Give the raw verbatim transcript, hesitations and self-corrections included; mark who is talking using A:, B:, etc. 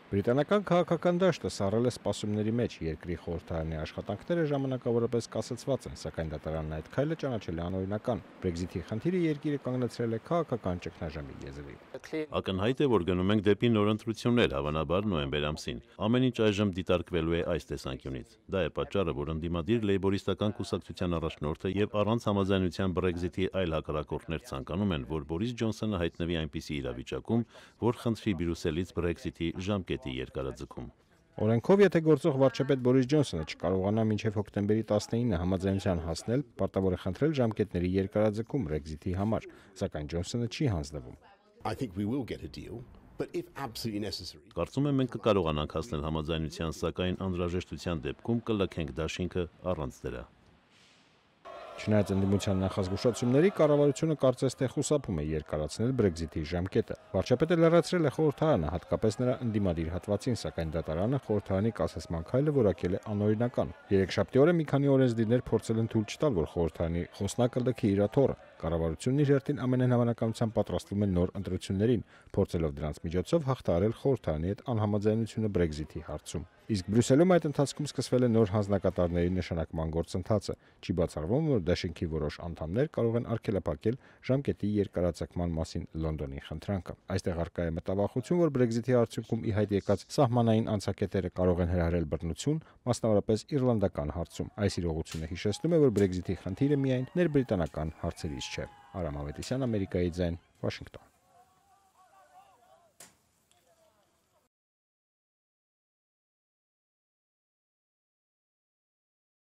A: Բրիտանական քաղաքական դաշտը սառել է սպասումների մեջ, երկրի խորհրդարանի աշխատանքները ժամանակավորապես կասեցված են, սակայն դատարանն այդ քայլը ճանաչել է անօրինական։ Brexit-ի խնդիրը երկիրը կանգնեցրել է քաղաքական ճգնաժամի եզրին։
B: Ակնհայտ է, որ գնում ենք դեպի նոր ընտրություններ, հավանաբար նոյեմբեր ամսին։ Ամեն ինչ այժմ դիտարկվելու է այս տեսանկյունից։ Դա է պատճառը, որ ընդդիմադիր լեյբորիստական կուսակցության առաջնորդը եւ առանց համաձայնության Brexit-ի այլ հակառակորդներ ցանկանում են, որ Բորիս Ջոնսոնը հայտնվի այնպիսի իրավիճակում, որ խնդրի Բրյուսելից Brexit-ի ժամկետի երկարաձգում։
A: Օրենքով, եթե գործող վարչապետ Բորիս Ջոնսոնը չկարողանա մինչև հոկտեմբերի տասնինը համաձայնության հասնել, պարտավոր է խնդրել ժամկետների երկարաձգում Brexit-ի համար, սակայն Ջոնսոնը չի հանձնվում։
B: Կարծում եմ մենք կկարողանանք հասնել համաձայնության, սակայն անհրաժեշտության դեպքում կլքենք դաշինքը առանց դրա։
A: Չնայած ընդդիմության նախազգուշացումների, կառավարությունը կարծես թե խուսափում է երկարացնել Brexit-ի ժամկետը։ Վարչապետը լրացրել է խորհրդարանը, հատկապես նրա ընդդիմադիր հատվածին, սակայն դատարանը խորհրդարանի կասեցման քայլը որակել է անօրինական։ Երեքշաբթի օրը մի քանի օրենսդիրներ փորձել են թույլ չտալ, որ խորհրդարանի խոսնակը լքի իր աթոռը։ Կառավարությունն իր հերթին ամենայն հավանականությամբ պատրաստվում է նոր ընտրություններին, փորձելով դրանց միջոցով հաղթահարել խորհրդարանի հետ անհամաձայնությունը Brexit-ի հարցում։ Իսկ Բրյուսելում այդ ընթացքում սկսվել է նոր հանձնակատարների նշանակման գործընթացը։ Չի բացառվում, որ դաշինքի որոշ անդամներ կարող են արգելափակել ժամկետի երկարաձգման մասին Լոնդոնի խնդրանքը։ Այստեղ առկա է մտավախություն, որ Brexit-ի արդյունքում ի հայտ եկած սահմանային անցակետերը կարող են հրահրել բռնություն, մասնավորապես իռլանդական հարցում։ Այս իրողությունը հիշեցնում է, որ Brexit-ի խնդիրը միայն ներբրիտանական հարցերից չէ։ Արամ Ավետիսյան, Ամերիկայի ձայն, Վաշինգտոն։